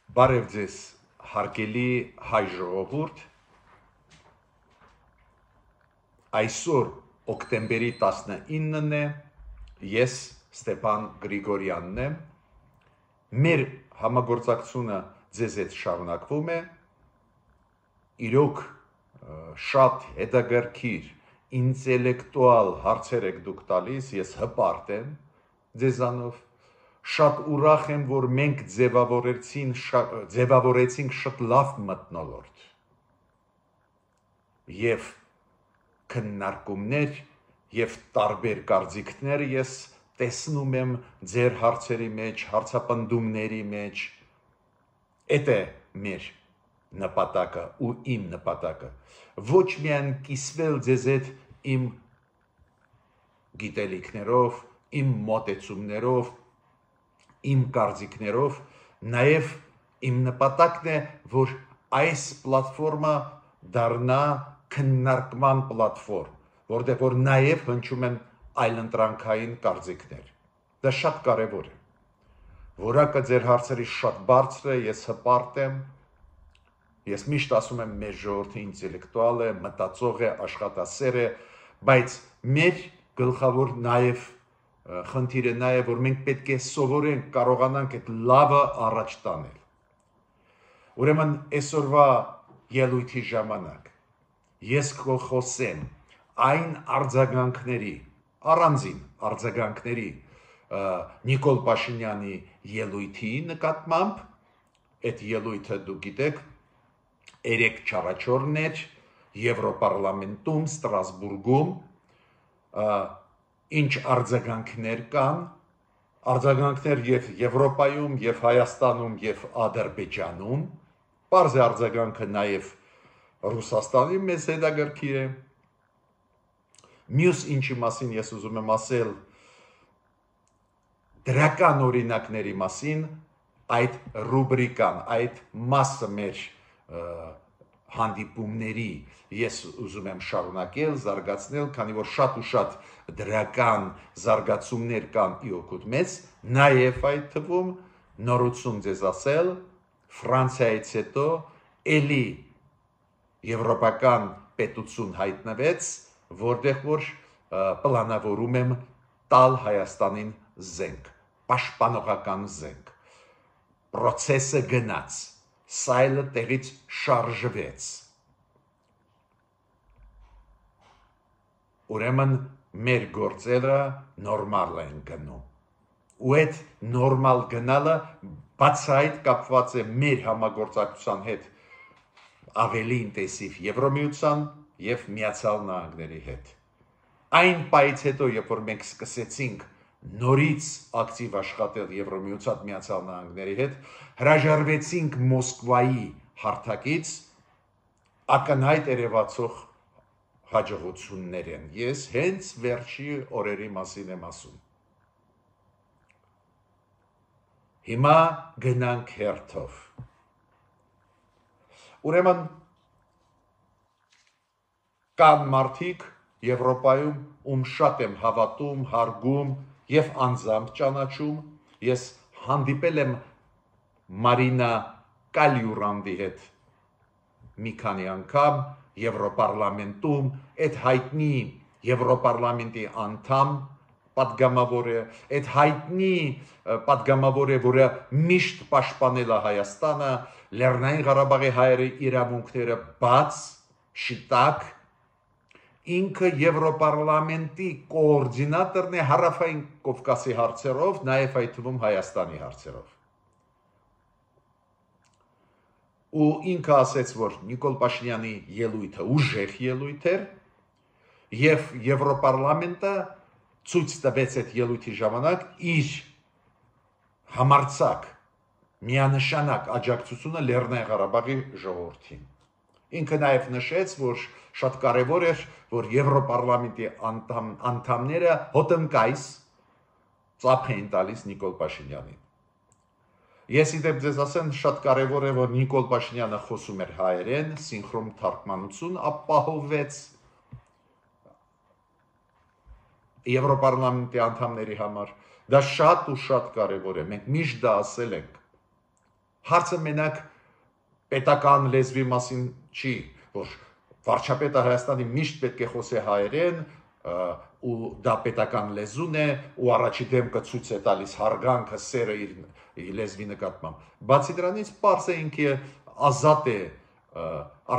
Բարև ձեզ, հարգելի հայ ժողովուրդ, այսօր օկտեմբերի 19-ն է, ես Ստեփան Գրիգորյանն եմ, մեր համագործակցությունը ձեզ հետ շարունակվում է, իրոք շատ հետաքրքիր, ինտելեկտուալ հարցեր եք դուք տալիս, ես հպարտ եմ ձեզանով, շատ ուրախ եմ, որ մենք ձևավորեցինք շատ լավ մթնոլորտ և քննարկումներ և տարբեր կարծիքներ ես տեսնում եմ ձեր հարցերի մեջ, հարցապնդումների մեջ, էդ է մեր նպատակը ու իմ նպատակը, ոչ միայն կիսվել ձեզ հետ իմ գիտելիքներով, իմ մոտեցումներով, իմ կարծիքներով, նաև իմ նպատակն է, որ այս պլատֆորմը դառնա քննարկման պլատֆորմ, որտեղ որ նաև հնչում են այլընտրանքային կարծիքներ, դա շատ կարևոր է, որակը ձեր հարցերի շատ բարձր է, ես հպարտ եմ, ես միշտ ասում եմ մեր ժողովուրդը ինտելեկտուալ է, մտածող է, աշխատասեր է, բայց մեր գլխավոր նաև խնդիրը նա է, որ մենք պետք է սովորենք, կարողանանք այդ լավը առաջ տանել։ Ուրեմն այսօրվա ելույթի ժամանակ ես կխոսեմ այն արձագանքների, առանձին արձագանքների Նիկոլ Փաշինյանի ելույթի նկատմամբ, այդ ելույթը դուք գիտեք, 3-4 էր Եվրոպարլամենտում, Ստրասբուրգում, ինչ արձագանքներ կան, արձագանքներ և Եվրոպայում, և Հայաստանում, և Ադրբեջանում, պարզ է արձագանքը նաև Ռուսաստանի մեզ հետաքրքիր է, մյուս ինչի մասին ես ուզում եմ ասել, դրական օրինակների մասին, այդ ռուբրիկան, այդ մասը մեր հանդիպումների ես ուզում եմ շարունակել, զարգացնել, քանի որ շատ ու շատ դրական զարգացումներ կան իօգուտ մեզ, նաև այդ թվում նորություն ձեզ ասել, Ֆրանսիայից հետո էլի եվրոպական պետություն հայտնվեց, որտեղ որ պլանավորում եմ տալ Հայաստանին զենք, պաշտպանողական զենք, պրոցեսը գնաց, սայլը տեղից շարժվեց, ուրեմն մեր գործերը նորմալ են գնում, ու այդ նորմալ գնալը բացահայտ կապված է մեր համագործակցության հետ ավելի ինտենսիվ Եվրամիության և Միացյալ Նահանգների հետ։ Այն պահից հետո, երբ որ մենք սկսեցինք նորից ակտիվ աշխատել Եվրամիության Միացյալ Նահանգների հետ, հրաժարվեցինք Մոսկվայի հարթակից, ակնհայտ երևացող հաջողություններ են։ Ես հենց վերջի օրերի մասին եմ ասում։ Հիմա գնանք հերթով։ Ուրեմն կան մարդիկ Եվրոպայում, ում շատ եմ հավատում, հարգում և անձամբ ճանաչում, ես հանդիպել եմ Մարինա Կալյուրանդի հետ մի քանի անգամ Եվրոպարլամենտում, այդ հայտնի Եվրոպարլամենտի անդամ պատգամավոր է, այդ հայտնի պատգամավոր է, որը միշտ պաշտպանել է Հայաստանը, Լեռնային Ղարաբաղի հայերի իրավունքները բաց, շիտակ, ինքը Եվրոպարլամենտի կոորդինատորն է Հարավային Կովկասի հարցերով, նաև այդ թվում Հայաստանի հարցերով։ Ու ինքը ասեց, որ Նիկոլ Փաշինյանի ելույթը ուժեղ ելույթ էր, և Եվրոպարլամենտը ցույց տվեց այդ ելույթի ժամանակ իր համարձակ միանշանակ աջակցությունը Լեռնային Ղարաբաղի ժողովրդին։ Ինքը նաև նշեց, որ շատ կարևոր էր, որ Եվրոպարլամենտի անդամները հոտնկայս ծափ էին տալիս Նիկոլ Փաշինյանին։ Ես իդեպ ձեզ ասեմ, շատ կարևոր է, որ Նիկոլ Փաշինյանը խոսում էր հայերեն, սինխրոն թարգմանություն ապահովվեց Եվրոպարլամենտի անդամների համար, դա շատ ու շատ կարևոր է, մենք միշտ դա ասել ենք, Հարցը մենակ պետական լեզվի մասին չի, որ վարչապետը Հայաստանի միշտ պետք է խոսի հայերեն, ու դա պետական լեզուն է, ու առաջի դեմքը ցույց է տալիս հարգանքը, սերը իր լեզվի նկատմամբ։ Բացի դրանից պարզ է ինքը ազատ է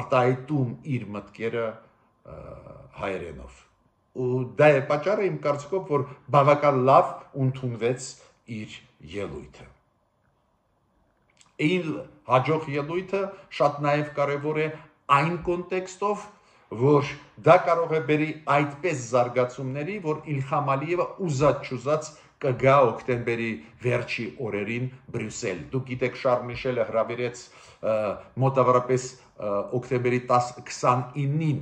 արտահայտում իր մտքերը հայերենով։ Ու դա է պատճառը իմ կարծիքով, որ բավական լավ ընդունվեց իր ելույթը։ Իր հաջող ելույթը շատ նաև կարևոր է այն կոնտեքստով, որ դա կարող է բերի այդպես զարգացումների, որ Իլհամ Ալիևը ուզած-չուզած կգա օկտեմբերի վերջի օրերին Բրյուսել։ Դուք գիտեք, Շարլ Միշելը հրավիրեց մոտավորապես օկտեմբերի 29-ին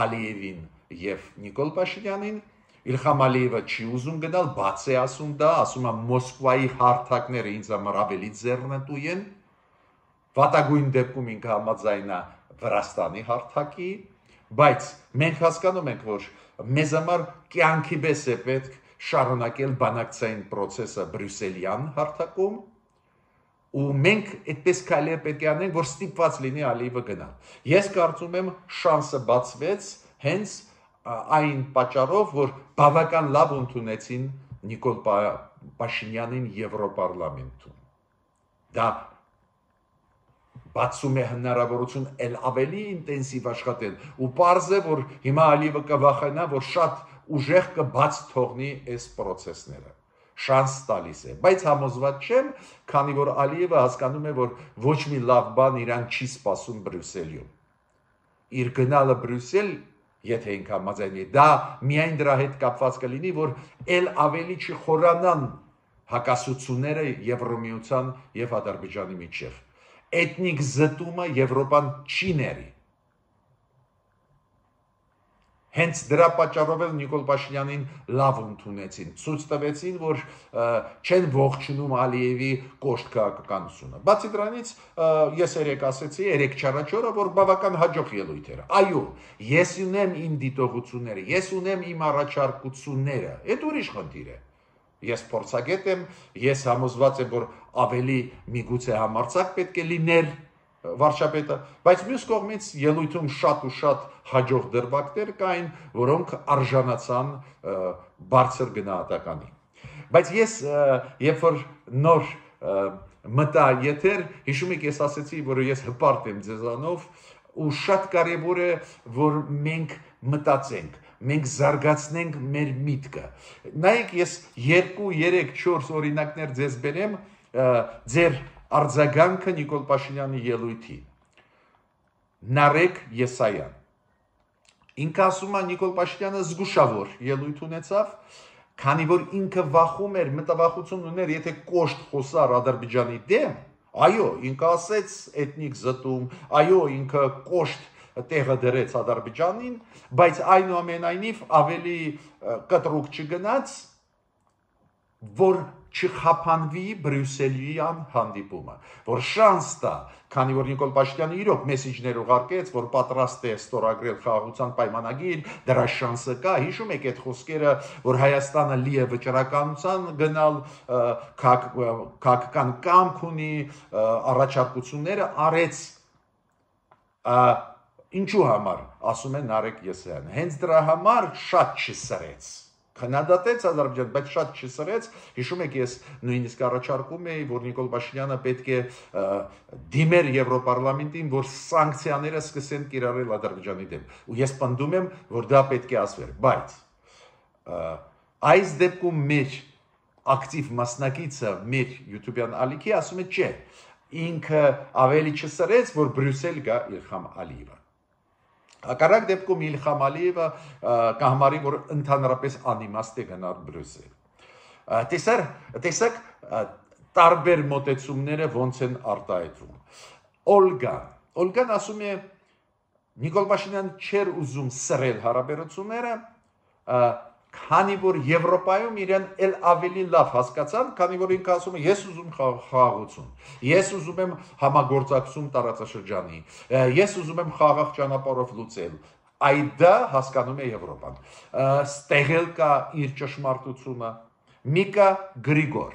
Ալիևին եւ Նիկոլ Փաշինյանին։ Իլհամ Ալիևը չի ուզում գնալ, բաց է ասում դա, ասում է Մոսկվայի հարթակները ինձ համար ավելի ձեռնտու են։ Վատագույն դեպքում ինքը համաձայն է Վրաստանի հարթակի, բայց մենք հասկանում ենք, որ մեզ համար կյանքի պես է պետք շարունակել բանակցային process-ը Բրյուսելյան հարթակում, ու մենք այդպես քայլեր պետք է անենք, որ ստիպված լինի Ալիևը գնալ։ Ես կարծում եմ շանսը բացվեց հենց այն պատճառով, որ բավական լավ ընդունեցին Նիկոլ Փաշինյանին Եվրոպարլամենտում։ Դա բացում է հնարավորություն էլ ավելի ինտենսիվ աշխատել, ու պարզ է, որ հիմա Ալիևը կվախենա, որ շատ ուժեղ կբաց թողնի այս process-ները։ Շանս տալիս է, բայց համոզված չեմ, քանի որ Ալիևը հասկանում է, որ ոչ մի լավ բան իրան չի սպասում Բրյուսելում։ Իր գնալը Բրյուսել, եթե ինքը համաձայնի, դա միայն դրա հետ կապված կլինի, որ ել ավելի չխորանան հակասությունները Եվրոմիության եւ Ադրբեջանի միջև։ Էթնիկ զտումը Եվրոպան չի ների։ Հենց դրա պատճառով էլ Նիկոլ Փաշինյանին լավ ընդունեցին, ցույց տվեցին, որ չեն ողջունում Ալիևի կոշտ քաղաքականությունը։ Բացի դրանից, ես երեք ասեցի, երեք չառաջորը, որ բավական հաջող ելույթ էր։ Այո, ես ունեմ իմ դիտողությունները, ես ունեմ իմ առաջարկությունները, այդ ուրիշ խնդիր է։ Ես փորձագետ եմ, ես համոզված եմ, որ ավելի միգուցե համարձակ պետք է լինել վարչապետը, բայց մյուս կողմից ելույթում շատ ու շատ հաջող դրվագներ կային, որոնք արժանացան բարձր գնահատականի։ Բայց ես, երբ որ նոր մտա եթեր, հիշում եք, ես ասեցի, որ ես հպարտ եմ ձեզանով, ու շատ կարևոր է, որ մենք մտածենք, մենք զարգացնենք մեր միտքը։ Նայեք, ես 2, 3, 4 օրինակներ ձեզ բերեմ ձեր արձագանքը Նիկոլ Փաշինյանի ելույթի։ Նարեկ Եսայան։ Ինքը ասում է Նիկոլ Փաշինյանը զգուշավոր ելույթ ունեցավ, քանի որ ինքը վախում էր, մտավախություն ուներ, եթե կոշտ խոսար Ադրբեջանի դեմ, այո, ինքը ասեց էթնիկ զտում, այո, ինքը կոշտ տեղը դրեց Ադրբեջանին, բայց այնուամենայնիվ ավելի կտրուկ չգնաց, որ չխափանվի Բրյուսելյան հանդիպումը, որ շանս տա, քանի որ Նիկոլ Փաշինյանը իրոք մեսիջներ ուղարկեց, որ պատրաստ է ստորագրել խաղաղության պայմանագիր, դրա շանսը կա, հիշում եք այդ խոսքերը, որ Հայաստանը լի է վճռականության գնալ, քաղաքական կամք ունի, առաջարկությունները արեց, ինչու համար, ասում է Նարեկ Եսայանը, հենց դրա համար շատ չսրեց, քննադատեց Ադրբեջանը, բայց շատ չսրեց, հիշում եք, ես նույնիսկ առաջարկում էի, որ Նիկոլ Փաշինյանը պետք է դիմեր Եվրոպարլամենտին, որ սանկցիաները սկսեն կիրառել Ադրբեջանի դեմ, ու ես պնդում եմ, որ դա պետք է ասվեր, բայց այս դեպքում մեր ակտիվ մասնակիցը, մեր YouTube-յան ալիքի ասում է չէ, ինքը ավելի չսրեց, որ Բրյուսել գա Իլհամ Ալիևը։ Հակառակ դեպքում Իլհամ Ալիևը կհամարի, որ ընդհանրապես անիմաստ է գնալ Բրյուսել։ Տեսակ տարբեր մոտեցումները ոնց են արտահայտվում։ Օլգան ասում է Նիկոլ Փաշինյանը չէր ուզում սրել հարաբերությունները, քանի որ Եվրոպայում իրեն էլ ավելի լավ հասկացան, քանի որ ինքը ասում է ես ուզում խաղաղություն, ես ուզում եմ համագործակցություն տարածաշրջանի, ես ուզում եմ խաղաղ ճանապարհով լուծել, այդ դա հասկանում է Եվրոպան։ Ստեղել կա իր ճշմարտությունը։ Միկա Գրիգոր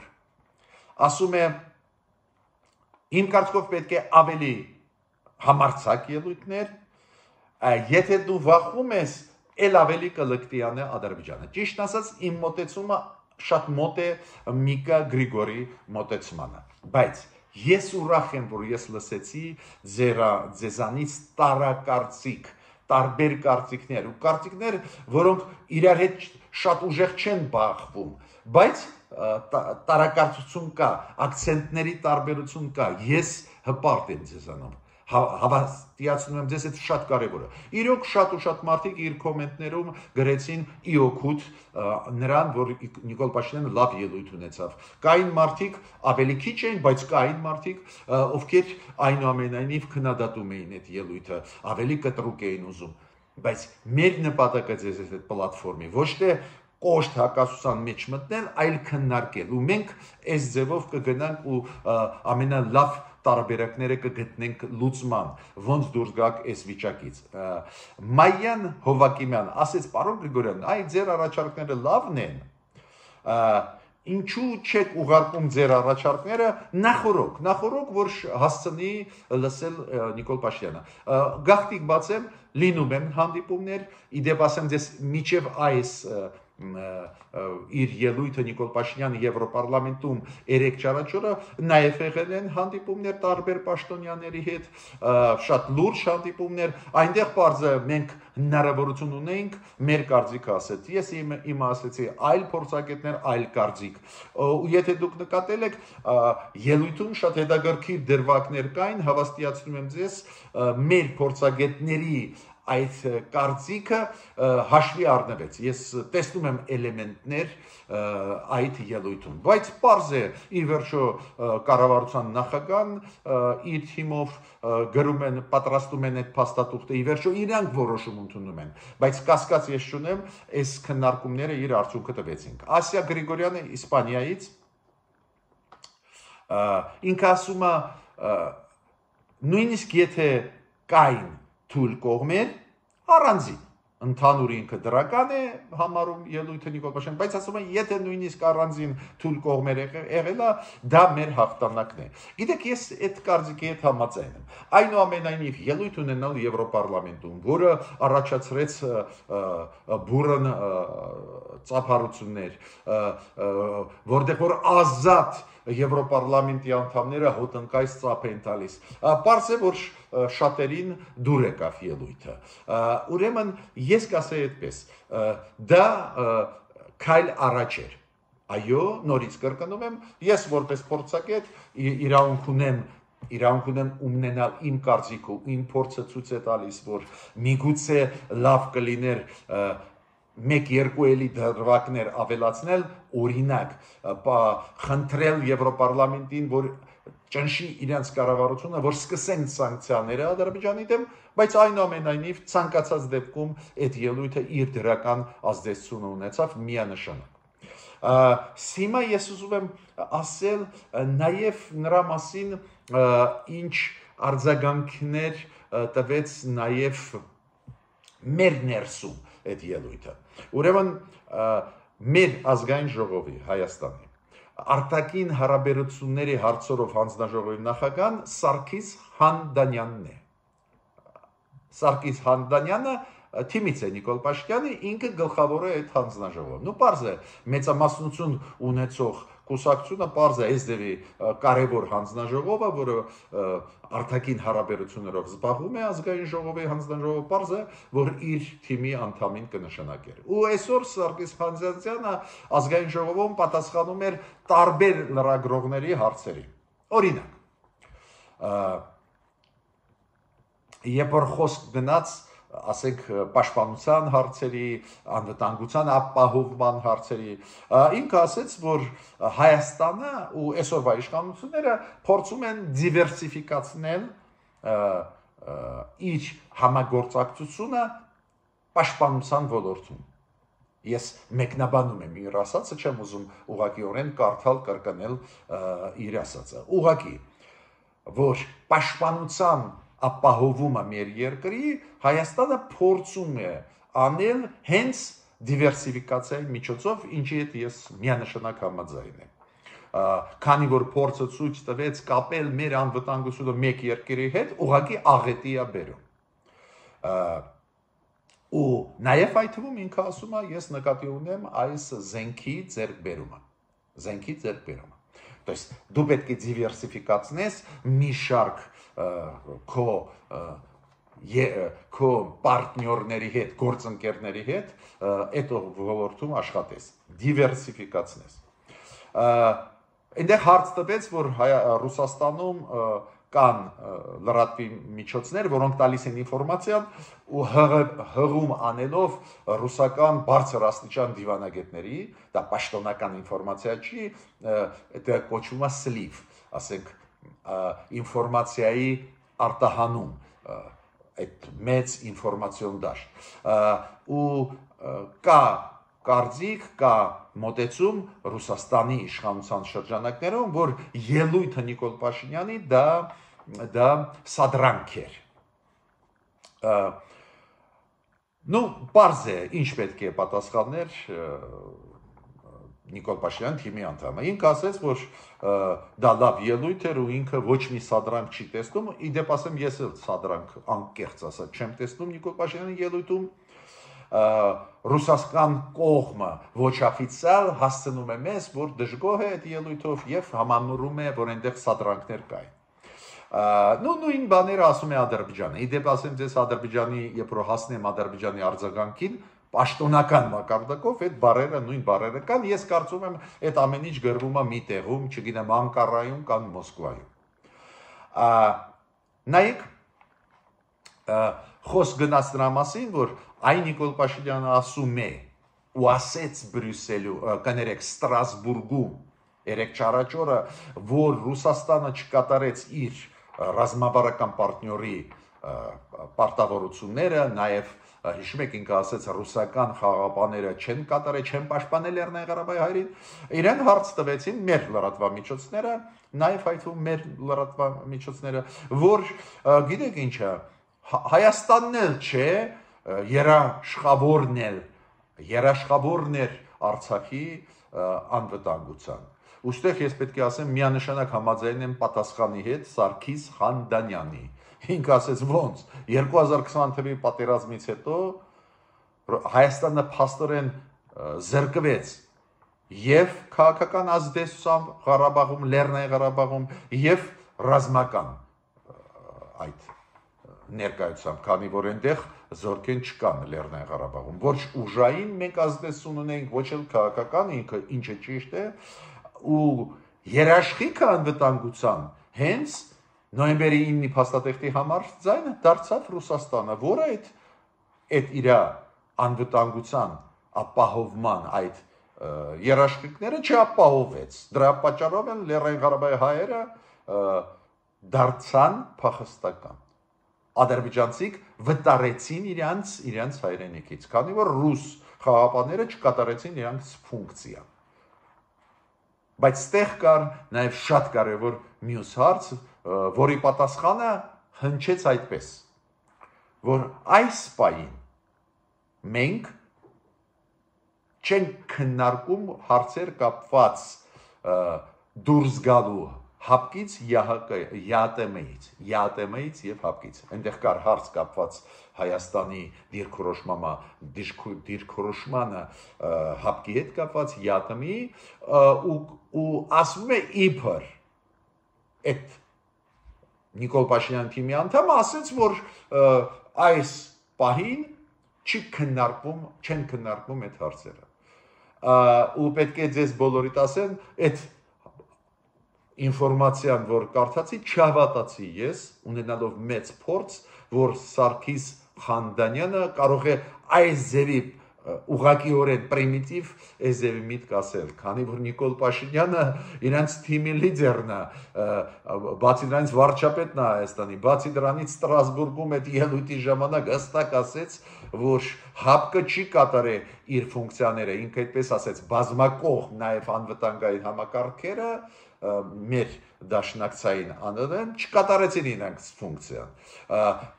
ասում է Իմ կարծիքով պետք է ավելի համարձակ ելույթներ, եթե դու վախում ես, էլ ավելի կլկտի անե Ադրբեջանը։ Ճիշտ ասած, իմ մոտեցումը շատ մոտ է Միկա Գրիգորի մոտեցմանը, բայց ես ուրախ եմ, որ ես լսեցի ձեզանից տարակարծիք, տարբեր կարծիքներ ու կարծիքներ, որոնք իրար հետ շատ ուժեղ չեն բախվում, բայց տարակարծություն կա, ակցենտների տարբերություն կա, ես հպարտ եմ ձեզանով, հավաստիացնում եմ ձեզ, այդ շատ կարևոր է։ Իրոք շատ ու շատ մարդիկ իր կոմենտներում գրեցին ի օգուտ նրան, որ Նիկոլ Փաշինյանը լավ ելույթ ունեցավ։ Կային մարդիկ ավելի քիչ էին, բայց կային մարդիկ, ովքեր այնուամենայնիվ քննադատում էին այդ ելույթը, ավելի կտրուկ էին ուզում։ Բայց մեր նպատակը ձեզ այդ պլատֆորմի ոչ թե կոշտ հակասության մեջ մտնել, այլ քննարկել։ Ու մենք այս ձևով կգնանք ու ամենալավ տարբերակները կգտնենք լուծման, ոնց դուրս գաք այս վիճակից։ Մայան Հովակիմյան ասեց, պարոն Գրիգորյան, այ ձեր առաջարկները լավն են, ինչու չեք ուղարկում ձեր առաջարկները նախորոք, որ հասցնի լսել Նիկոլ Փաշինյանը։ Գաղտնիք բացեմ, լինում են հանդիպումներ, իդեպ ասեմ ձեզ միջև այս իր ելույթը Նիկոլ Փաշինյանը Եվրոպարլամենտում 3-4 օրը նաև եղել են հանդիպումներ տարբեր պաշտոնյաների հետ, շատ լուրջ հանդիպումներ, այնտեղ բարձր մենք հնարավորություն ունենք մեր կարծիքը ասել։ Ես իմ ասեցի այլ փորձագետներ, այլ կարծիք։ Ու եթե դուք նկատել եք, ելույթում շատ հետաքրքիր դրվագներ կային, հավաստիացնում եմ ձեզ, մեր փորձագետների այդ կարծիքը հաշվի առնվեց։ Ես տեսնում եմ էլեմենտներ այդ ելույթում, բայց պարզ է, ի վերջո կառավարության նախագահան իր թիմով գրում են, պատրաստում են այդ փաստաթուղթը, ի վերջո իրանք որոշում ընդունում են, բայց կասկած ես չունեմ, այս քննարկումները իր արդյունքը տվեցին։ Ասիա Գրիգորյանը Իսպանիայից ինքը ասում է, նույնիսկ եթե կային թույլ կողմեր, առանձին, ընդհանուր ինքը դրական է համարում ելույթը Նիկոլ Փաշինյանը, բայց ասում են, եթե նույնիսկ առանձին թույլ կողմեր եղել է, դա մեր հաղթանակն է։ Գիտեք, ես այդ կարծիքի հետ համաձայն եմ։ Այնուամենայնիվ ելույթ ունենալ Եվրոպարլամենտում, որը առաջացրեց բուրըն ծափարություններ, որտեղ որ ազատ Եվրոպարլամենտի անդամները հոտնկայս ծափ են տալիս։ Պարզ է, որ շատերին դուր եկավ ելույթը։ Ուրեմն ես կասեի այդպես, դա քայլ առաջ էր։ Այո, նորից կրկնում եմ, ես որպես փորձագետ իրավունք ունեմ ունենալ իմ կարծիքը, իմ փորձը ցույց է տալիս, որ միգուցե լավ կլիներ 1-2 էլի դրվագներ ավելացնել, օրինակ, խնդրել Եվրոպարլամենտին, որ ճնշի իրենց կառավարությունը, որ սկսեն սանկցիաները Ադրբեջանի դեմ, բայց այնուամենայնիվ ցանկացած դեպքում այդ ելույթը իր դրական ազդեցություն ունեցավ միանշանակ։ Հիմա ես ուզում եմ ասել նաև նրա մասին, ինչ արձագանքներ տվեց նաև մեր ներսում այդ ելույթը։ Ուրեմն մեր ազգային ժողովի Հայաստանի արտաքին հարաբերությունների հարցերով հանձնաժողովի նախագահան Սարգիս Հանդանյանն է։ Սարգիս Հանդանյանը թիմից է Նիկոլ Փաշինյանը, ինքը գլխավոր է այդ հանձնաժողովը։ Պարզ է, մեծամասնություն ունեցող կուսակցությունը պարզ է այս դեպի կարևոր հանձնաժողովը, որը արտաքին հարաբերություններով զբաղվում է ազգային ժողովի հանձնաժողովը, պարզ է, որ իր թիմի անդամին կնշանակեր։ Ու այսօր Սարգիս Հանդանյանը ազգային ժողովում պատասխանում էր տարբեր լրագրողների հարցերի։ Օրինակ, երբ որ խոսք գնաց, ասենք պաշտպանության հարցերի, անվտանգության ապահովման հարցերի, ինքը ասեց, որ Հայաստանը ու այսօրվա իշխանությունները փորձում են դիվերսիֆիկացնել իր համագործակցությունը պաշտպանության ոլորտում։ Ես մեկնաբանում եմ իր ասածը, չեմ ուզում ուղղակիորեն կարդալ, կրկնել իր ասածը։ Ուղղակի, որ պաշտպանության ապահովումը մեր երկրի Հայաստանը փորձում է անել հենց դիվերսիֆիկացիայի միջոցով, ինչի հետ ես միանշանակ համաձայն եմ։ քանի որ փորձը ցույց տվեց կապել մեր անվտանգությունը մեկ երկրի հետ, ուղղակի աղետի է բերում։ Ու նաև այդ թվում ինքը ասում է, ես նկատի ունեմ այս զենքի ձեռքբերումը։ То есть դու պետք է դիվերսիֆիկացնես մի շարք քո պարտներների հետ, գործընկերների հետ, այդ ոլորտում աշխատես, դիվերսիֆիկացնես։ Այնտեղ հարց տվեց, որ Ռուսաստանում կան լրատվի միջոցներ, որոնք տալիս են ինֆորմացիան ու հղում անելով ռուսական բարձր աստիճան դիվանագետների, դա պաշտոնական ինֆորմացիա չի, դա կոչվում է սլիվ, ասենք ինֆորմացիայի արտահանում, այդ մեծ ինֆորմացիոն դաշտ, ու կա կարծիք, կա մոտեցում Ռուսաստանի իշխանության շրջանակներում, որ ելույթը Նիկոլ Փաշինյանի դա սադրանք էր։ Պարզ է, ինչ պետք է պատասխաններ Նիկոլ Փաշինյան թիմի անդամը։ Ինքը ասեց, որ դա լավ ելույթ էր ու ինքը ոչ մի սադրանք չի տեսնում, իդեպ ասեմ, ես էլ սադրանք անկեղծ ասած չեմ տեսնում Նիկոլ Փաշինյանի ելույթում, ռուսական կողմը ոչ օֆիցիալ հասցնում է մեզ, որ դժգոհ է այդ ելույթով եւ համանորում է, որ այնտեղ սադրանքներ կային։ Նույն բաները ասում է Ադրբեջանը։ Իդեպ ասեմ ձեզ Ադրբեջանի, երբ որ հասնեմ Ադրբեջանի արձագանքին, պաշտոնական մակարդակով այդ բառերը նույն բառերը կան, ես կարծում եմ այդ ամեն ինչ գրվում է մի տեղում, չգիտեմ, Անկարայում կամ Մոսկվայում։ Նայեք, խոսք գնաց դրա մասին, որ այ Նիկոլ Փաշինյանը ասում է ու ասեց Բրյուսելում, կներեք Ստրասբուրգում, երեք չարաճորը, որ Ռուսաստանը չկատարեց իր ռազմավարական պարտների պարտավորությունները, նաև հիշում եք ինքը ասեց ռուսական խաղաղապահները չեն կատարել, չեն պաշտպանել Լեռնային Ղարաբաղի հայրին, իրեն հարց տվեցին մեր լրատվամիջոցները, նաև այդվում մեր լրատվամիջոցները, որ գիտեք ինչ է, Հայաստանն էլ չէ, երաշխավորն էր Արցախի անվտանգության։ Ուստեղ ես պետք է ասեմ, միանշանակ համաձայն եմ պատասխանի հետ Սարգիս Խանդանյանի։ Ինքը ասեց ոնց, 2020 թվականի պատերազմից հետո Հայաստանը փաստորեն զրկվեց եւ քաղաքական ազդեցությամբ Ղարաբաղում, Լեռնային Ղարաբաղում եւ ռազմական այդ ներկայությամբ, քանի որ այնտեղ զորքեր չկան Լեռնային Ղարաբաղում, ոչ ուժային մենք ազդեցություն ունենք, ոչ էլ քաղաքական, ինչը ճիշտ է, ու երաշխիքը անվտանգության հենց նոյեմբերի 9-ի փաստաթղթի համար ձայնը դարձավ Ռուսաստանը, որը այդ իր անվտանգության ապահովման այդ երաշխիքները չապահովեց։ Դրա պատճառով են Լեռնային Ղարաբաղի հայերը դարձան փախստական։ Ադրբեջանցիք վտարեցին իրենց հայրենիքից, քանի որ ռուս խաղաղապահները չկատարեցին իրենց ֆունկցիա։ Բայց ստեղ կար նաև շատ կարևոր մյուս հարց, որի պատասխանը հնչեց այդպես, որ այս պահին մենք չենք քննարկում հարցեր կապված դուրս գալու հապկից ԵԱՏՄ-ից եւ հապկից։ Այնտեղ կար հարց կապված Հայաստանի դիրքորոշմանը հապկի հետ կապված ԵԱՏՄ-ի ու ասում է իբր այդ Նիկոլ Փաշինյան թիմի անդամը ասեց, որ այս պահին չեն քննարկվում այդ հարցերը։ Ու պետք է ձեզ բոլորիդ ասեն, այդ ինֆորմացիան, որ կարդացի, չհավատացի ես, ունենալով մեծ փորձ, որ Սարգիս Խանդանյանը կարող է այս ձևի ուղղակիորեն պրիմիտիվ էզևի միտք ասել, քանի որ Նիկոլ Փաշինյանը իրենց թիմի լիդերն է, բացի դրանից վարչապետն է Հայաստանի, բացի դրանից Ստրասբուրգում այդ ելույթի ժամանակ հստակ ասեց, որ հապկը չի կատարել իր ֆունկցիաները, ինքը այդպես ասեց, բազմակողմ նաև անվտանգային համակարգերը մեր դաշնակցային անձն չկատարեցին իրենց ֆունկցիան։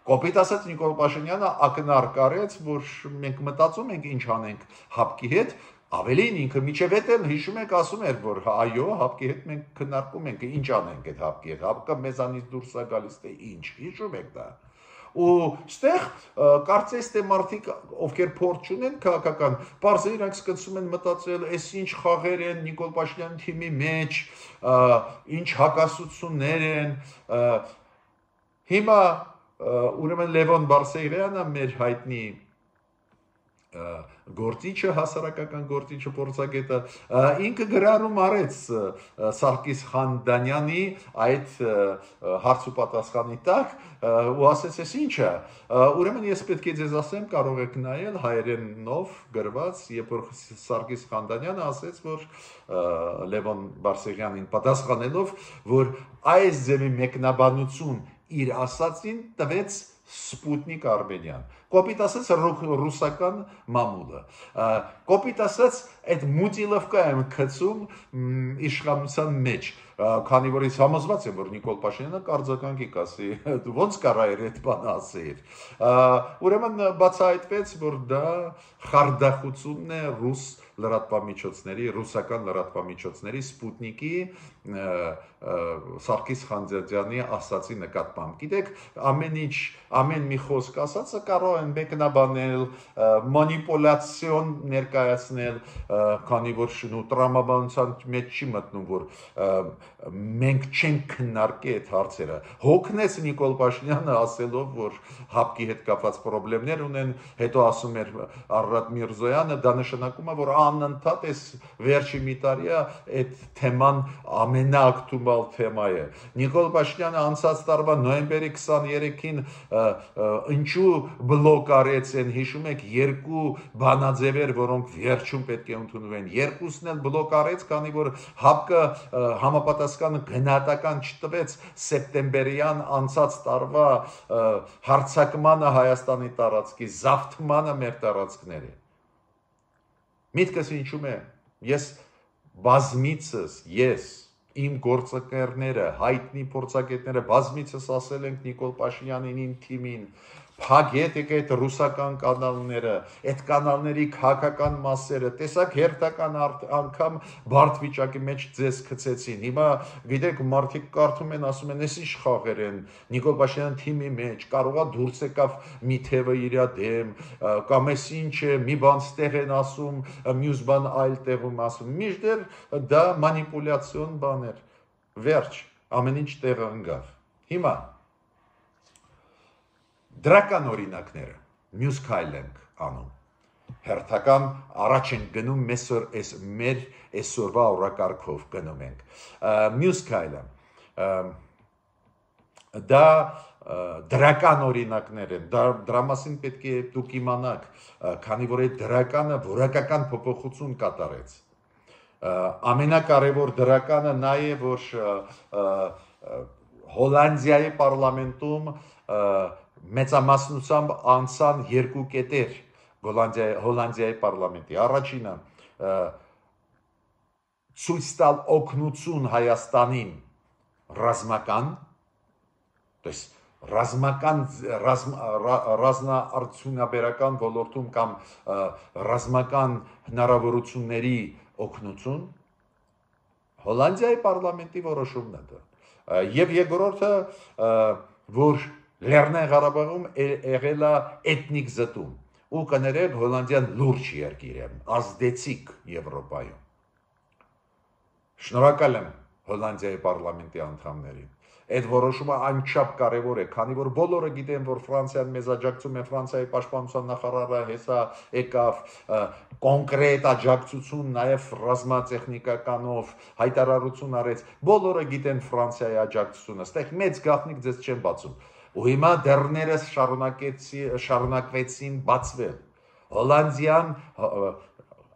Կոպիտ ասած Նիկոլ Փաշինյանը ակնարկ արեց, որ մենք մտածում ենք ինչ անենք հապկի հետ, Ավելին ինքը միջև էդ էլ հիշում եք ասում էր, որ այո, հապկի հետ մենք քննարկում ենք, ինչ անենք այդ հապկի հետ, հապկը մեզանից դուրս է գալիս, թե ինչ, հիշում եք դա։ Ու ստեղ կարծես թե մարդիկ, ովքեր փորձ չունեն քաղաքական, բարձր իրանք սկսում են մտածել, այս ինչ խաղեր են Նիկոլ Փաշինյանի թիմի մեջ, ինչ հակասություններ են։ Հիմա ուրեմն Լևոն Բարսեղյանը մեր հայտնի գործիչը, հասարակական գործիչը, փորձագետը, ինքը գրառում արեց Սարգիս Խանդանյանի այդ հարց ու պատասխանի տակ ու ասեց, այս ինչը, ուրեմն ես պետք է ձեզ ասեմ, կարող եք նայել հայերենով գրված, երբ որ Սարգիս Խանդանյանը ասեց, որ Լևոն Բարսեղյանին պատասխանելով, որ այս ձևի մեկնաբանություն իր ասածին տվեց Սպուտնիկ Արմենիան, կոպիտ ասած ռուսական մամուլը, կոպիտ ասած այդ մուտիլովկա եմ գցում իշխանության մեջ, քանի որ ես համոզված եմ, որ Նիկոլ Փաշինյանը կարձականքի կասի, ոնց կարա էր այդ բանը ասել, ուրեմն բացահայտվեց, որ դա խարդախությունն է ռուս լրատվամիջոցների, ռուսական լրատվամիջոցների Սպուտնիկի Սարգիս Խանդանյանի ասացի նկատմամբ։ Գիտեք, ամեն մի խոսք ասածը կարող են մեկնաբանել, մանիպուլյացիոն ներկայացնել, քանի որ տրամաբանության մեջ չի մտնում, որ մենք չենք քննարկի այդ հարցերը։ Հոգնեց Նիկոլ Փաշինյանը ասելով, որ հապկի հետ կապված խնդիրներ ունեն, հետո ասում էր Արարատ Միրզոյանը, դա նշանակում է, որ անընդհատ այս վերջի մի տարիա այդ թեման ամենաակտուալ թեմա է։ Նիկոլ Փաշինյանը անցած տարվա նոյեմբերի 23-ին ինչու բլոկ արեց են, հիշում եք, երկու բանաձևեր, որոնք վերջում պետք է ընդունվեն, երկուսն էլ բլոկ արեց, քանի որ հապկը համապատասխան գնահատական չտվեց սեպտեմբերյան անցած տարվա հարձակմանը Հայաստանի տարածքի, զավթմանը մեր տարածքների։ Միտքս ինչու՞մ է, ես բազմիցս, իմ գործընկերները, հայտնի փորձագետները բազմիցս ասել ենք Նիկոլ Փաշինյանին, իմ թիմին, փակեք այդ ռուսական կանալները, այդ կանալների քաղաքական մասերը, տեսակ հերթական անգամ բարդ վիճակի մեջ ձեզ գցեցին։ Հիմա գիտեք, մարդիկ կարդում են, ասում են, այս ինչ խաղեր են Նիկոլ Փաշինյանի թիմի մեջ, կարողա դուրս եկավ մի թևը իր դեմ, կամ այս ինչ է, մի բան ստեղ են ասում, մյուս բան այլ տեղում ասում։ Միշտեր դա մանիպուլյացիոն բան էր։ Վերջ, ամեն ինչ տեղը ընկավ։ Հիմա դրական օրինակները, մյուս քայլ ենք անում, հերթական առաջ ենք գնում մեր այսօրվա օրակարգով գնում ենք, մյուս քայլը, դա դրական օրինակներ են, դրա մասին պետք է դուք իմանաք, քանի որ այդ դրականը որակական փոփոխություն կատարեց, ամենակարևոր դրականը նա է, որ Հոլանդիայի պարլամենտում մեծամասնությամբ անցան երկու կետեր Հոլանդիայի պարլամենտի։ Առաջինը ցույց տալ օգնություն Հայաստանին ռազմական, ռազմաարդյունաբերական ոլորտում կամ ռազմական հնարավորությունների օգնություն, Հոլանդիայի պարլամենտի որոշումն է դա։ Եվ երկրորդը, որ Լեռնային Ղարաբաղում եղել է էթնիկ զտում, ու կներեք Հոլանդիան լուրջ երկիր է, ազդեցիկ Եվրոպայում։ Շնորհակալ եմ Հոլանդիայի պարլամենտի անդամներին։ Այդ որոշումը անչափ կարևոր է, քանի որ բոլորը գիտեն, որ Ֆրանսիան մեզ աջակցում է, Ֆրանսիայի պաշտպանության նախարարը հեսա եկավ, կոնկրետ աջակցություն, նաև ռազմատեխնիկականով հայտարարություն արեց, բոլորը գիտեն Ֆրանսիայի աջակցությունը, ստեղ մեծ գաղտնիք ձեզ չեմ բացում, ու հիմա դեռներս շարունակվեցին բացվել, Հոլանդիան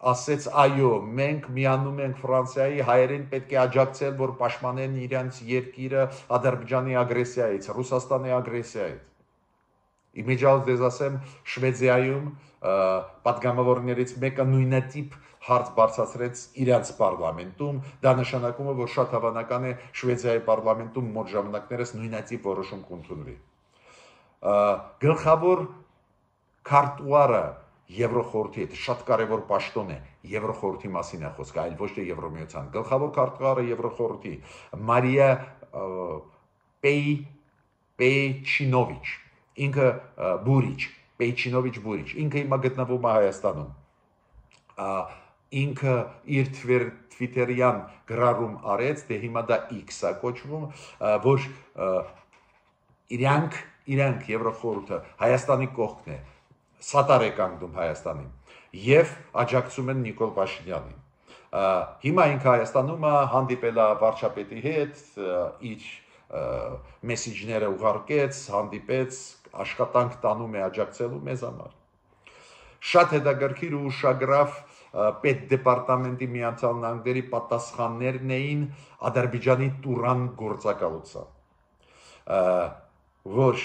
ասեց այո, մենք միանում ենք Ֆրանսիայի, հայերին պետք է աջակցել, որ պաշտպանեն իրենց երկիրը Ադրբեջանի ագրեսիայից, Ռուսաստանի ագրեսիայից։ Իմիջիայլոց դες ասեմ, Շվեդիայում պատգամավորներից մեկը նույնատիպ հարց բարձրացրեց իրենց պարլամենտում, դա նշանակում է, որ շատ հավանական է Շվեդիայի պարլամենտում մոտ ժամանակներս նույնատիպ որոշում կընդունվի։ Գլխավոր քարտուղարը Եվրոխորհրդի հետ շատ կարևոր պաշտոն է, Եվրոխորհրդի մասին է խոսքը, այլ ոչ թե Եվրոմիության։ Գլխավոր քարտուղարը Եվրոխորհրդի Մարիա Պեյչինովիչ, ինքը Պեյչինովիչ Բուրիչ, ինքը հիմա գտնվում է Հայաստանում։ Ինքը իր Twitter-յան գրառում արեց, դե հիմա դա X-ա կոչվում, որ իրանք Եվրոխորհուրդը Հայաստանի կողքն է, սատար է կանգնում Հայաստանին եւ աջակցում են Նիկոլ Փաշինյանին։ Հիմա ինքը Հայաստանում հանդիպել է վարչապետի հետ, իր մեսեջները ուղարկեց, հանդիպեց, աշխատանք տանում է աջակցելու մեզ համար։ Շատ հետաքրքիր ու ուշագրավ պետդեպարտամենտի Միացյալ Նահանգների պատասխաններն էին Ադրբեջանի Տուրան գործակալության, որ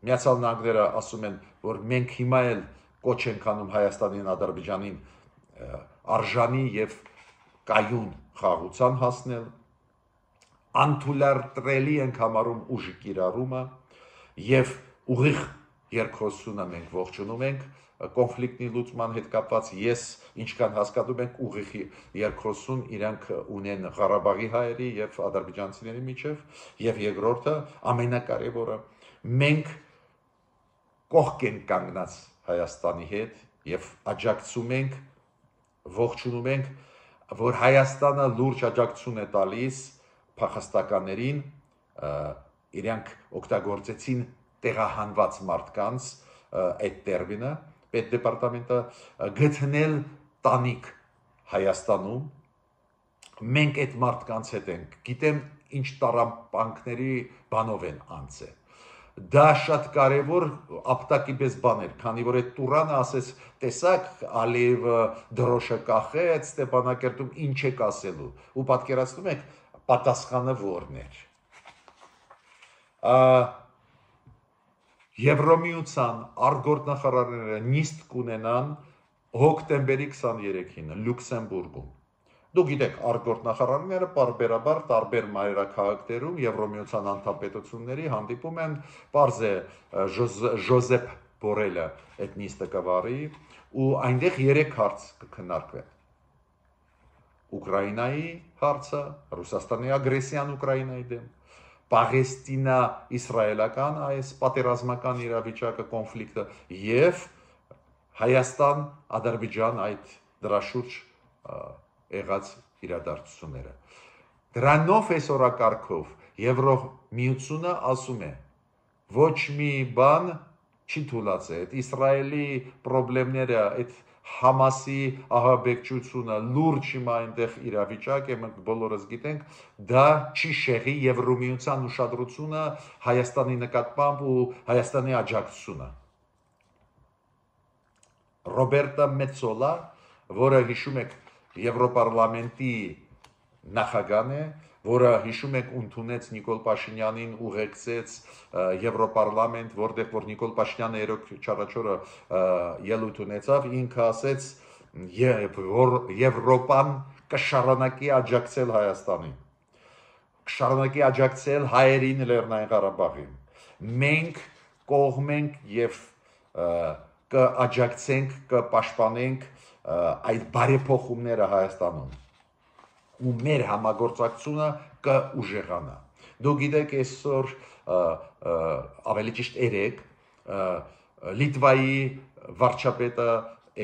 Միացյալ Նահանգները ասում են, որ մենք հիմա էլ կոչ ենք անում Հայաստանին, Ադրբեջանին արժանի եւ կայուն խաղաղության հասնել, անթույլատրելի ենք համարում ուժի կիրառումը եւ ուղիղ երկխոսությունը մենք ողջունում ենք կոնֆլիկտի լուծման հետ կապված ես ինչքան հասկանում ենք ուղիղ երկխոսություն իրանք ունեն Ղարաբաղի հայերի եւ ադրբեջանցիների միջեւ եւ երկրորդը ամենակարևորը մենք կողք ենք կանգնած Հայաստանի հետ եւ աջակցում ենք ողջունում ենք որ Հայաստանը լուրջ աջակցություն է տալիս փախստականներին իրանք օգտագործեցին տեղահանված մարդկանց այդ տերմինը պետդեպարտամենտը գտնել տանիք Հայաստանում մենք այդ մարդկանց հետ ենք գիտեմ ինչ տարապանքների բանով են անցել դա շատ կարևոր ապտակի պես բան էր քանի որ այդ Տուրանը ասեց տեսակ Ալիևը դրոշը կախեց Ստեփանակերտում ինչ եք ասելու ու պատկերացնում եք պատասխանը որն էր Եվրոմիության արտգործնախարարները նիստ կունենան հոկտեմբերի 23-ին Լյուքսեմբուրգում Դուք գիտեք արտգործնախարարները բարբերաբար տարբեր մայրաքաղաքներում Եվրոմիության անդամպետությունների հանդիպում են պարզ է Ժոզեփ Բորելը այդ նիստը կվարի ու այնտեղ 3 հարց կքննարկվեն Ուկրաինայի հարցը Ռուսաստանի ագրեսիան Ուկրաինայի դեմ Պաղեստինա-իսրայելական այս պատերազմական իրավիճակը կոնֆլիկտը եւ Հայաստան Ադրբեջան այդ դրա շուրջ եղած իրադարձությունները դրանով այսօրակարգով Եվրոմիությունը ասում է ոչ մի բան չի թույլատրել այդ Իսրայելի խնդիրները այդ Համասի ահաբեկչությունը լուրջ հիմա այնտեղ իրավիճակ է մենք բոլորս գիտենք դա չի շեղի Եվրոմիության ուշադրությունը Հայաստանի նկատմամբ ու Հայաստանի աջակցությունը Ռոբերտա Մեծոլա որը հիշում եք Եվրոպարլամենտի նախագահն է որը հիշում եք ընդունեց Նիկոլ Փաշինյանին ուղեկցեց Եվրոպարլամենտ որտեղ որ Նիկոլ Փաշինյանը երեք չարաչորը ելույթ ունեցավ ինքը ասեց Եվրոպան կշարունակի աջակցել Հայաստանին կշարունակի աջակցել հայերին Լեռնային Ղարաբաղին մենք կողմ ենք եւ կաջակցենք կպաշտպանենք այդ բարեփոխումները Հայաստանում ու մեր համագործակցությունը կուժեղանա դուք գիտեք այսօր ավելի ճիշտ երեք Լիտվայի վարչապետը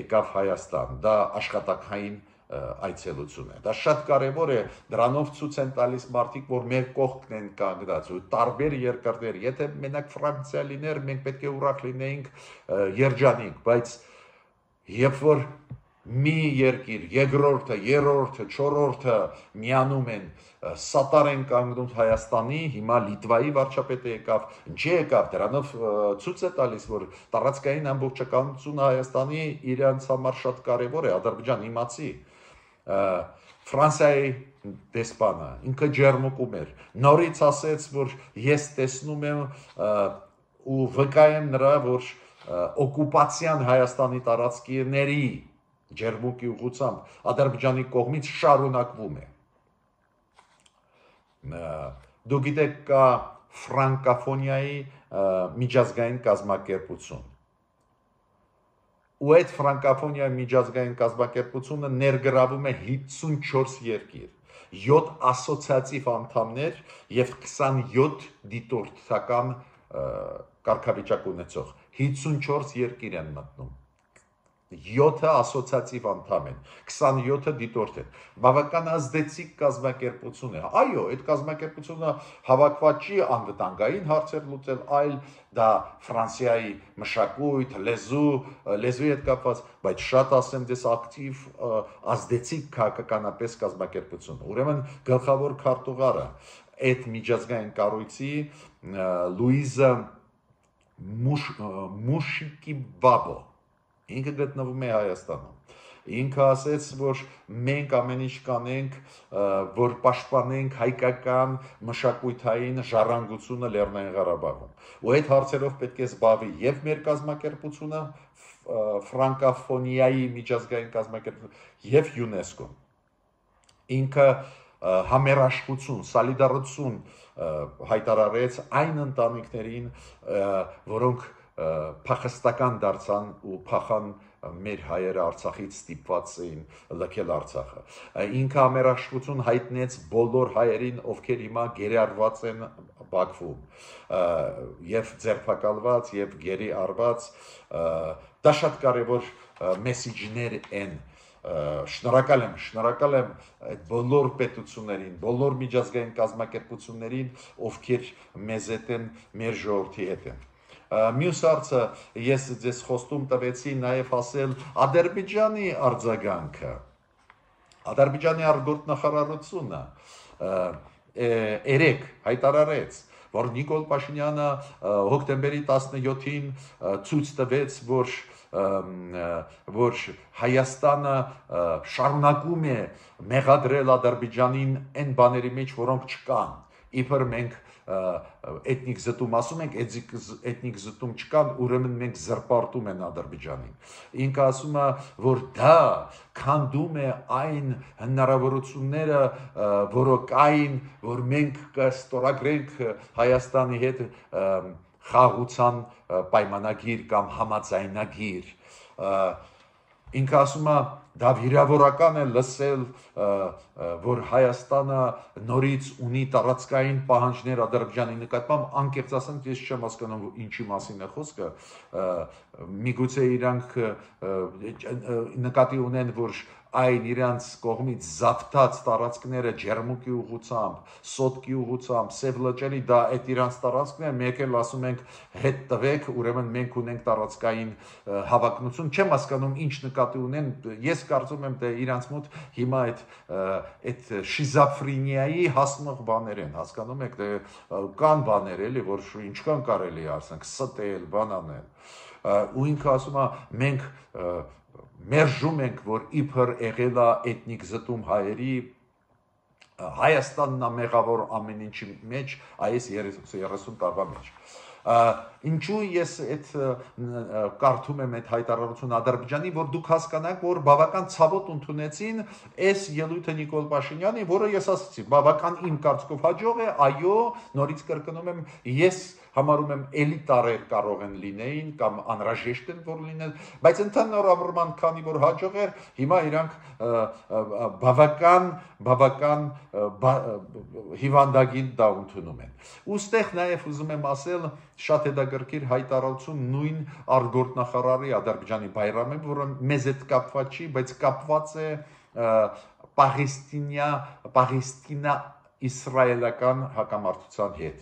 եկավ Հայաստան դա աշխատանքային այցելություն է դա շատ կարևոր է դրանով ցույց են տալիս մարդիկ որ մեր կողքն են կանգնած ու տարբեր երկրներ եթե մենակ Ֆրանսիա լիներ մենք պետք է ուրախ լինեինք երջանիկ բայց երբ որ մի երկիր, երկրորդը, երրորդը, չորրորդը միանում են, սատար են կանգնում Հայաստանի, հիմա Լիտվայի վարչապետը եկավ, ինչի եկավ, դրանով ցույց է տալիս, որ տարածքային ամբողջականությունը Հայաստանի իրանց համար շատ կարևոր է, Ադրբեջան իմացի, Ֆրանսիայի դեսպանը, ինքը ջերմուկում էր, նորից ասեց, որ ես տեսնում եմ ու վկայեմ նրա, որ օկուպացիան Հայաստանի տարածքների ջերմուկի ուղղությամբ Ադրբեջանի կողմից շարունակվում է։ Դուք գիտեք կա ֆրանկոֆոնիայի միջազգային կազմակերպություն։ ու այդ ֆրանկոֆոնիայի միջազգային կազմակերպությունը ներգրավում է 54 երկիր, 7 ասոցիատիվ անդամներ եւ 27 դիտորդական կարգավիճակ ունեցող 54 երկիր են մտնում 7 ասոցիատիվ անդամ են, 27-ը դիտորդ են, բավական ազդեցիկ կազմակերպություն է, այո, այդ կազմակերպությունը հավաքված չի անվտանգային հարցեր լուծել, այլ դա Ֆրանսիայի մշակույթ, լեզուի հետ կապված, բայց շատ ասեմ դες ակտիվ ազդեցիկ քաղաքականապես կազմակերպություն, ուրեմն գլխավոր քարտուղարը այդ միջազգային կառույցի Լուիզա Մուշիկիբաբո ինքը գտնվում է Հայաստանում։ Ինքը ասեց, որ մենք ամեն ինչ կանենք, որ պաշտպանենք հայկական մշակութային ժառանգությունը Լեռնային Ղարաբաղում։ Ու այդ հարցերով պետք է զբաղվի եւ մեր կազմակերպությունը, ֆրանկոֆոնիայի միջազգային կազմակերպությունը եւ ՅՈՒՆԵՍԿՕ-ն։ Ինքը համերաշխություն, սոլիդարություն հայտարարեց այն ընտանիքներին, որոնք փախստական դարձան ու փախան մեր հայերը Արցախից ստիպված էին լքել Արցախը։ Ինքը համերաշխություն հայտնեց բոլոր հայերին, ովքեր հիմա գերարված են Բաքվում, եւ ձերբակալված եւ գերի արված, դա շատ կարեւոր մեսիջներ են։ Շնորհակալ եմ այդ բոլոր պետություններին, բոլոր միջազգային կազմակերպություններին, ովքեր մեզ հետ են, մեր ժողովրդի հետ են։ Մյուս հարցը ես ձեզ խոստում տվեցի նաև ասել Ադրբեջանի արձագանքը։ Ադրբեջանի արտգործնախարարությունը երեք հայտարարեց, որ Նիկոլ Փաշինյանը հոկտեմբերի 17-ին ցույց տվեց, որ Հայաստանը շարունակում է մեղադրել Ադրբեջանին այն բաների մեջ, որոնք չկան։ Իբր մենք էթնիկ զտում ասում ենք, էթնիկ զտում չկան, ուրեմն մենք զրպարտում են Ադրբեջանին։ Ինքը ասում է, որ դա քանդում է այն հնարավորությունները, որոնք կային, որ մենք կստորագրենք Հայաստանի հետ խաղաղության պայմանագիր կամ համաձայնագիր։ Ինքը ասում է, դա վիրավորական է լսել, որ Հայաստանը նորից ունի տարածքային պահանջներ Ադրբեջանի նկատմամբ, անկեղծ ասեմ, ես չեմ հասկանում ինչի մասին է խոսքը, միգուցե իրանք նկատի ունեն, որ այն իրանց կողմից զավթած տարածքները ջերմուկի ուղղությամբ, սոտկի ուղղությամբ, սև լճերի դա այդ իրանց տարածքն է, մեկ էլ ասում ենք հետ տվեք, ուրեմն մենք ունենք տարածքային հավակնություն, չեմ հասկանում ինչ նկատի ունեն, ես կարծում եմ թե իրանց մոտ հիմա այդ շիզոֆրենիայի հասնող բաներ են, հասկանում եք, կան բաներ էլի, որ ինչքան կարելի է ասենք, ստել, բան անել, ու ինքը ասում է մենք մերժում ենք, որ իբր եղել է էթնիկ զտում հայերի, Հայաստանն է մեղավոր ամեն ինչի մեջ, այս 30 տարվա մեջ։ Ինչու ես այդ կարդում եմ այդ հայտարարությունը Ադրբեջանի, որ դուք հասկանաք, որ բավական ցավոտ ընդունեցին այս ելույթը Նիկոլ Փաշինյանի, որը ես ասացի, բավական իմ կարծիքով հաջող է, այո, նորից կրկնում եմ, ես համարում եմ էլիտարեր կարող են լինեին կամ անհրաժեշտ են որ լինեն, բայց ընդհանրապես քանի որ հաջող էր, հիմա իրանք բավական հիվանդագին դա ընդունում են։ Ոստեղ նաև ուզում եմ ասել շատ հետաքրքիր հայտարարություն նույն արտգործնախարարի Ադրբեջանի Բայրամի, որը մեզ հետ կապված չի, բայց կապված է Պաղեստինա-իսրայելական հակամարտության հետ։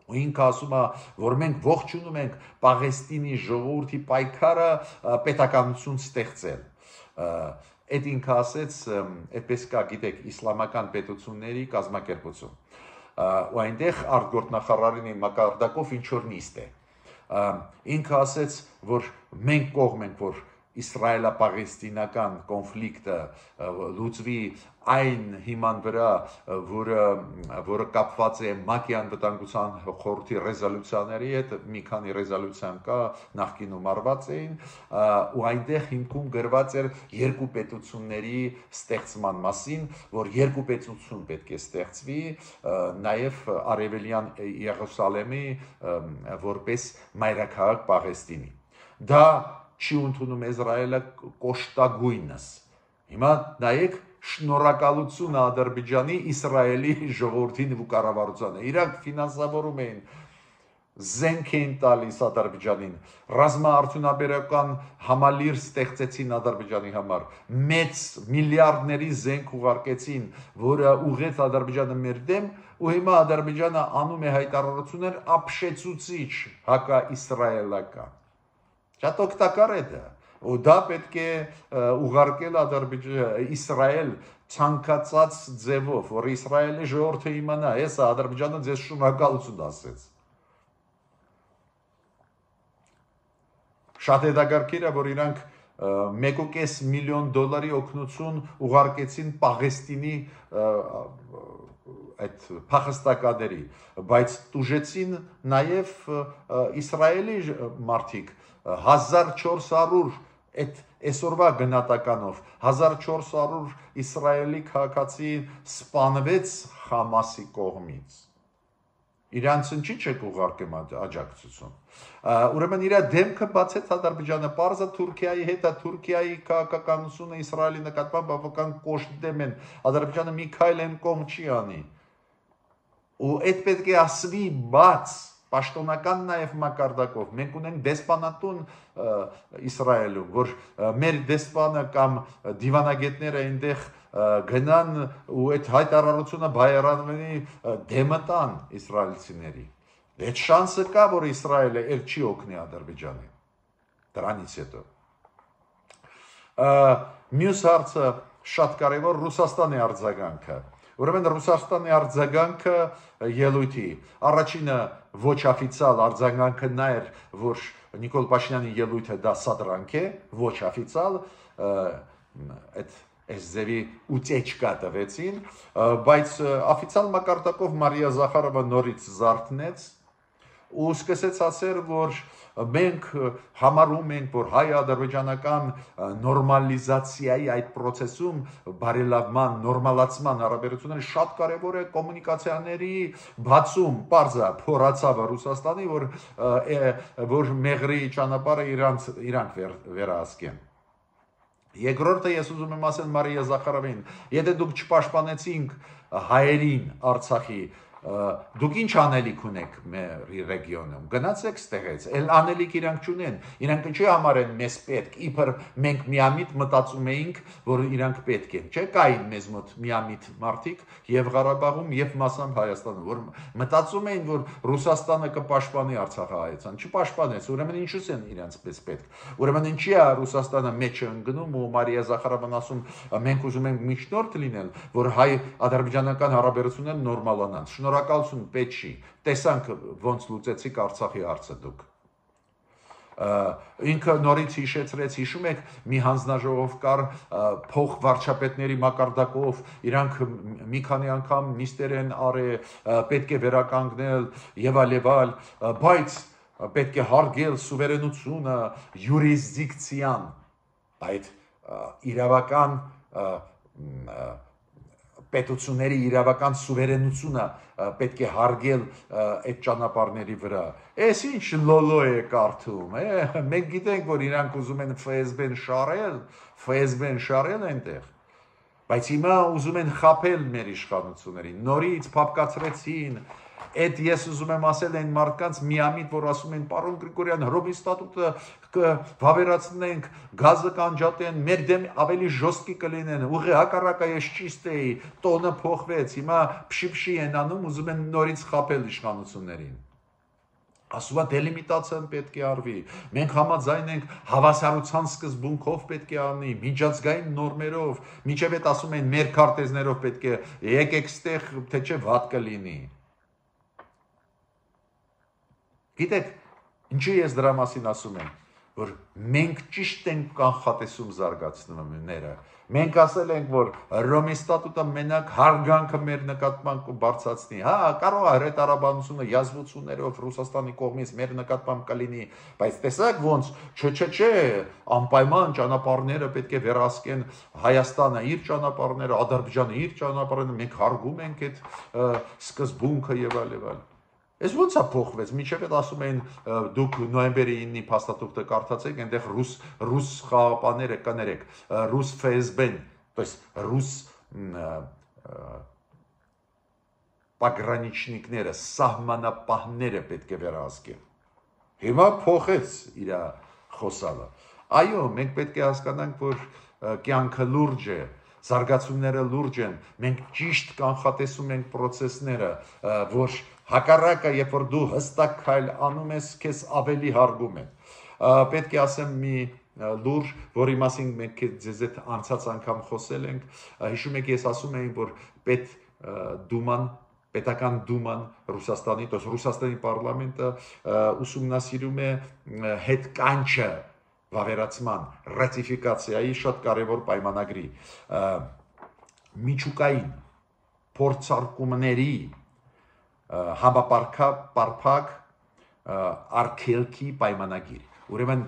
Ու ինքը ասում է, որ մենք ողջունում ենք Պաղեստինի ժողովրդի պայքարը պետականություն ստեղծել։ Այդ ինքը ասեց, այդպես կա, գիտեք, իսլամական պետությունների կազմակերպություն։ Ու այնտեղ արտգործնախարարի մակարդակով ինչ որ նիստ է։ Ինքը ասեց, որ մենք կողմ ենք, որ իսրայելա-պաղեստինական կոնֆլիկտը լուծվի այն հիման վրա, որը կապված է ՄԱԿ-ի անվտանգության խորհրդի ռեզոլյուցիաների հետ, մի քանի ռեզոլյուցիան կա, նախկինում արված էին, ու այնտեղ հիմքում գրված էր երկու պետությունների ստեղծման մասին, որ երկու պետություն պետք է ստեղծվի, նաև արևելյան Երուսալեմի որպես մայրաքաղաք Պաղեստինի։ Դա չի ընդունում Իսրայելը կոշտագույնս։ Հիմա նայեք շնորհակալություն Ադրբեջանի Իսրայելի ժողովրդին ու կառավարությանը։ Իրանք ֆինանսավորում էին զենք էին տալիս Ադրբեջանին, ռազմաարդյունաբերական համալիր ստեղծեցին Ադրբեջանի համար, մեծ միլիարդների զենք ուղարկեցին, որը ուղղեց Ադրբեջանը մեր դեմ, ու հիմա Ադրբեջանը անում է հայտարարություններ ապշեցուցիչ հակաիսրայելական։ Շատ օգտակար է դա, ու դա պետք է ուղարկել Իսրայել ցանկացած ձևով, որ Իսրայելի ժողովուրդը իմանա, հեսա Ադրբեջանը ձեզ շնորհակալություն ասեց։ Շատ հետաքրքիր է, որ իրանք 1.5 միլիոն դոլարի օգնություն ուղարկեցին Պաղեստինի այդ փախստականների, բայց տուժեցին նաև Իսրայելի մարդիկ 1400 այդ այսօրվա գնահատականով 1400 իսրայելի քաղաքացի սպանվեց Համասի կողմից։ Իրանցին չի չեք ուղարկեմ աջակցություն։ Ուրեմն իր դեմքը բացեց Ադրբեջանը, պարզը Թուրքիայի հետ է, Թուրքիայի քաղաքականությունը Իսրայելի նկատմամբ բավական կոշտ դեմ են, Ադրբեջանը մի քայլ են կողմ չի անի։ Ու այդ պետք է ասվի բաց, պաշտոնական նաև մակարդակով։ Մենք ունենք դեսպանատուն Իսրայելում, որ մեր դեսպանը կամ դիվանագետները այնտեղ գնան ու այդ հայտարարությունը բայրանների դեմը տան իսրայելցիների։ Այդ շանսը կա, որ Իսրայելը էլ չի օգնի Ադրբեջանին։ Դրանից հետո մյուս հարցը շատ կարևոր Ռուսաստանի արձագանքը։ Ուրեմն Ռուսաստանի արձագանքը ելույթի առաջինը ոչ օֆիցիալ արձագանքը նա էր, որ Նիկոլ Փաշինյանի ելույթը դա սադրանք է, ոչ օֆիցիալ այդ այս ձևի ուտեչկա տվեցին, բայց օֆիցիալ մակարդակով Մարիա Զախարովը նորից զարթնեց ու սկսեց ասել, որ մենք համարում ենք, որ հայ-ադրբեջանական նորմալիզացիայի այդ process-ում բարելավման, նորմալացման հարաբերությունները շատ կարևոր է կոմունիկացիաների բացում, պարզա փորացավը Ռուսաստանի, որ մեղրի ճանապարհը իրանք վերահսկեն։ Երկրորդը ես ուզում եմ ասել Մարիա Զախարովին, եթե դուք չպաշտպանեցինք հայերին Արցախի, դուք ինչ անելիք ունեք մեր ռեգիոնում, գնացեք ստեղից, էլ անելիք իրանք չունեն, իրանք չի համարեն մեզ պետք, իբր մենք միամիտ մտածում էինք, որ իրանք պետք են, չէ, կային մեզ մոտ միամիտ մարդիկ եւ Ղարաբաղում եւ մասամբ Հայաստանում, որ մտածում էին, որ Ռուսաստանը կպաշտպանի Արցախահայցան, չպաշտպանեց, ուրեմն ինչու են իրանք պես պետք, ուրեմն ինչի է Ռուսաստանը մեջը ընկնում ու Մարիա Զախարովն ասում, մենք ուզում ենք միջնորդ լինել, որ հայ-ադրբեջանական հարաբերությունները նորմալանան, շնորհակալություն պետք չի, տեսանք ոնց լուծեցիք Արցախի հարցը դուք։ Ինքը նորից հիշեցրեց, հիշում եք, մի հանձնաժողով կար փող վարչապետների մակարդակով, իրանք մի քանի անգամ նիստեր են արել, պետք է վերականգնել եւ այլ, բայց պետք է հարգել սուվերենությունը, յուրիսդիկցիան, այդ իրավական պետությունների իրավական սուվերենությունը պետք է հարգել այդ ճանապարհների վրա։ Էս ինչ լոլո է կարդում, մենք գիտենք, որ իրանք ուզում են ՖՍԲ-ն շարել այնտեղ, բայց հիմա ուզում են խաբել մեր իշխանություններին, նորից փապկացրեցին, այդ ես ուզում եմ ասել այն մարդկանց միամիտ, որ ասում են, պարոն Գրիգորյան, Հռոմի ստատուտը կվավերացնենք, գազը կանջատեն, մեր դեմ ավելի ժոստկի կլինեն, ուղղի հակառակը ես ճիշտ էի, տոնը փոխվեց, հիմա փշի են անում, ուզում են նորից խաբել իշխանություններին։ Ասում է դելիմիտացիան պետք է արվի, մենք համաձայն ենք հավասարության սկզբունքով պետք է անի, միջազգային նորմերով, մինչև այդ ասում են մեր քարտեզներով պետք է եկեք ստեղ, թե չէ վատ կլինի։ Գիտեք, ինչի ես դրա մասին ասում եմ, որ մենք ճիշտ ենք կանխատեսում զարգացումները, մենք ասել ենք, որ Հռոմի ստատուտը մենակ հարգանքը մեր նկատմամբ կբարձրացնի, հա, կարող է հրետարաբանությունը յազվություններով Ռուսաստանի կողմից մեր նկատմամբ կլինի, բայց տեսակ ոնց, չէ, անպայման ճանապարհները պետք է վերահսկեն Հայաստանը իր ճանապարհները, Ադրբեջանը իր ճանապարհները, մենք հարգում ենք այդ սկզբունքը եւ այլ։ Այս ո՞նց է փոխվեց, մինչև այդ ասում էին դուք նոյեմբերի 9-ի փաստաթուղթը կարդացեք, այնտեղ ռուս խաղապաները կներեք, ռուս ФСБ-ն, то есть ռուս պագրանիչնիկները, սահմանապահները պետք է վերահսկեն։ Հիմա փոխեց իր խոսալը։ Այո, մենք պետք է հասկանանք, որ կյանքը լուրջ է, զարգացումները լուրջ են, մենք ճիշտ կանխատեսում ենք process-ները, որ հակառակը, երբ որ դու հստակ քայլ անում ես, քեզ ավելի հարգում են։ Պետք է ասեմ մի լուր, որի մասին մենք ձեզ հետ անցած անգամ խոսել ենք, հիշում եք, ես ասում էի, որ պետական դուման Ռուսաստանի, то есть Ռուսաստանի պարլամենտը ուսումնասիրում է հետկանչը վավերացման ռատիֆիկացիայի շատ կարևոր պայմանագրի միջուկային փորձարկումների համապարփակ արգելքի պայմանագիր։ Ուրեմն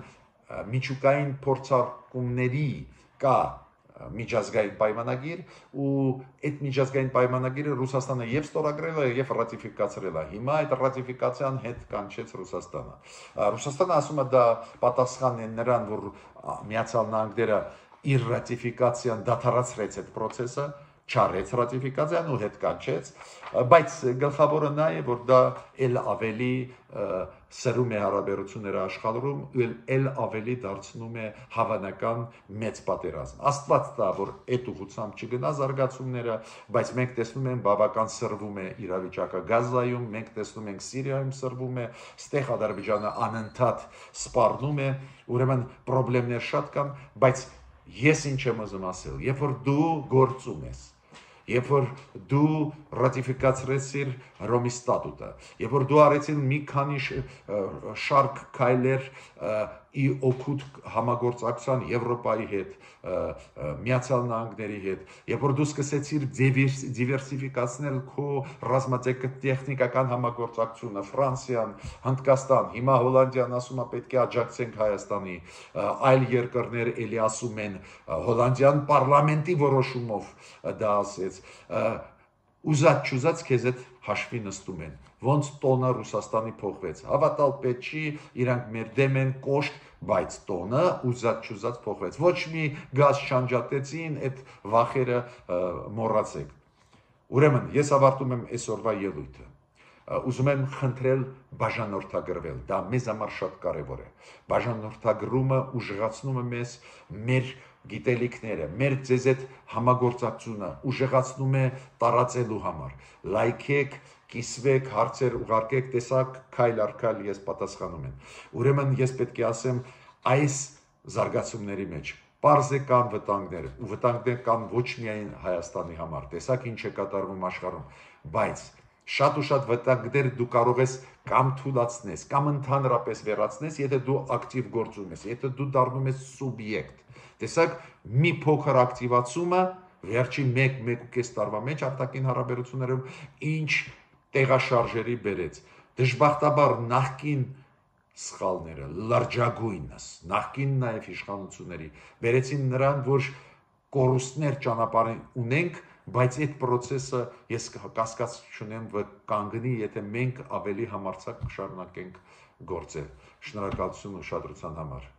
միջուկային փորձարկումների կա միջազգային պայմանագիր ու այդ միջազգային պայմանագիրը Ռուսաստանը եւ ստորագրել է եւ ռատիֆիկացրել է։ Հիմա այդ ռատիֆիկացիան հետ կանչեց Ռուսաստանը։ Ռուսաստանը ասում է դա պատասխան է նրան, որ Միացյալ Նահանգները իր ռատիֆիկացիան դադարեցրեց այդ process-ը, չարեց ռատիֆիկացիան ու հետ կանչեց, բայց գլխավորը նա է, որ դա էլ ավելի սրում է հարաբերությունները աշխարհում, էլ ավելի դարձնում է հավանական մեծ պատերազմ։ Աստված տա, որ այդ ուղղությամբ չգնա զարգացումները, բայց մենք տեսնում ենք բավական սրվում է իրավիճակը Գազայում, մենք տեսնում ենք Սիրիայում սրվում է, ստեղ Ադրբեջանը անընդհատ սպառնում է, ուրեմն խնդիրներ շատ կան, բայց ես ինչ եմ ուզում ասել, երբ որ դու գործում ես, երբ որ դու ռատիֆիկացրեցիր Հռոմի ստատուտը, երբ որ դու արեցին մի քանի շարք քայլեր ի օգուտ համագործակցության Եվրոպայի հետ, Միացյալ Նահանգների հետ, երբ որ դու սկսեցիր դիվերսիֆիկացնել քո ռազմատեխնիկական համագործակցությունը, Ֆրանսիան, Հնդկաստան, հիմա Հոլանդիան ասում է պետք է աջակցենք Հայաստանի, այլ երկրներ էլի ասում են, Հոլանդիան պարլամենտի որոշումով դա ասեց, ուզած քեզ այդ հաշվի նստում են, ոնց տոնը Ռուսաստանի փոխվեց, հավատալ պետք չի, իրանք մեր դեմ են կոշտ, բայց տոնը ուզած փոխվեց, ոչ մի գազ չանջատեցին, այդ վախերը մոռացեք։ Ուրեմն, ես ավարտում եմ այսօրվա ելույթը, ուզում եմ խնդրել բաժանորդագրվել, դա մեզ համար շատ կարևոր է, բաժանորդագրումը ուժեղացնում է մեզ մեր գիտելիքները, մեր ձեզ այդ համագործակցությունը ուժեղացնում է տարածելու համար, լայքեք, կիսվեք, հարցեր ուղարկեք, տեսակ, քայլ առ քայլ ես պատասխանում եմ, ուրեմն ես պետք է ասեմ այս զարգացումների մեջ պարզ է կան վտանգներ, ու վտանգներ կան ոչ միայն Հայաստանի համար, տեսակ ինչ է կատարվում աշխարհում, բայց շատ ու շատ վտանգներ դու կարող ես կամ թույլատնես, կամ ընդհանրապես վերացնես, եթե դու ակտիվ գործում ես, եթե դու դառնում ես սուբյեկտ։ Տեսակ մի փոքր ակտիվացումը վերջին 1-1.5 տարվա մեջ արտաքին հարաբերություններում ինչ տեղաշարժերի բերեց։ Դժբախտաբար նախկին սխալները, լրջագույնս, նախկին նաև իշխանությունների բերեցին նրան, որ կորուստներ ճանապարհին ունենք, բայց այդ process-ը ես կասկած չունեմ, որ կանգնի, եթե մենք ավելի համարձակ շարունակենք գործել։ Շնորհակալություն ուշադրության համար։